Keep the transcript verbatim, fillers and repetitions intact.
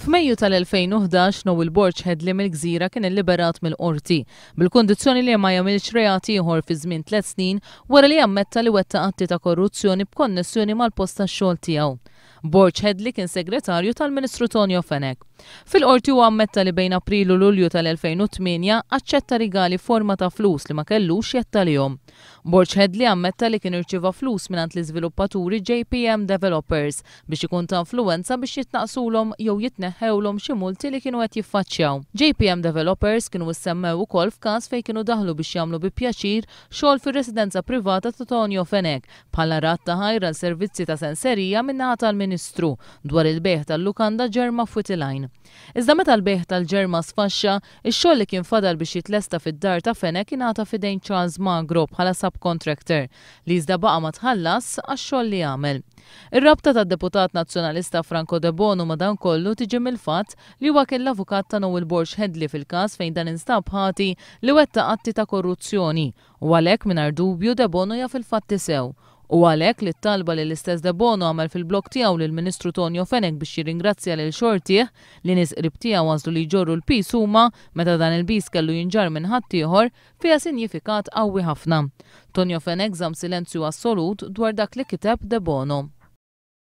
F'Mejju tal-elfejn u ħdax, Noel Borg Hedley mill-Gżira kien illiberat mill-qorti bil-kundizzjoni li ma jagħmilx reat ieħor fi żmien tliet snin wara li ammetta li wettaq atti ta' korruzzjoni b'konnessjoni mal-post tax-xogħol tiegħu. Borg Hedley kien segretarju tal-Ministru Tonio Fenech. Fil-qorti huwa ammetta li bejn April u Lulju tal-elfejn u tmienja aċċetta rigali forma ta' flus li ma kellux jettalihom. Borg Hedley ammetta li kien irċieva flus mingħand l-iżviluppaturi J P M Developers biex ikun ta' influwenza biex jitnaqsulhom jew jitneħħewlhom xi multi li kienu qed jiffaċċjaw. J P M Developers kienu issemmew ukoll f'każ fejn kienu daħlu biex jagħmlu bi pjaċir xogħol fir-residenza privata ta' Tonio Fenech bħala rat ta' ħajra għal servizzi ta' senserija min-naħa tal-Ministru dwar il-bejgħ tal-lukanda Ġerma f'Wied il-Għajn. Iżda meta l-bejgħ tal-Ġerma sfaxxa, ix-xogħol li kien fadal biex jitlesta fid-dar ta' Fenech ingħata f'idejn Charles Magro bħala subcontractor li iżda baqa' ma tħallas għax-xogħol li għamel. Ir-rabta tad-deputat nazzjonalista Franco Debono madankollu tiġi mill-fatt li huwa kien l-avukat ta' Noel Borg Hedley fil-każ fejn dan instab ħati li wettaq atti ta' korruzzjoni u għalhekk mingħajr dubju Debono jaf il-fatti sew. U għalhekk li t-talba li l-istess Debono għamel fil-blog tiegħu lill-Ministru Tonio Fenech biex jirringrazzja lil xortih li nies qrib tiegħu għażlu li jġorru l-pis huma meta dan il-pis kellu jinġarr minn ħaddieħor fiha sinjifikat qawwi ħafna. Tonio Fenech żamm silenzju assolut dwar dak li kiteb Debono.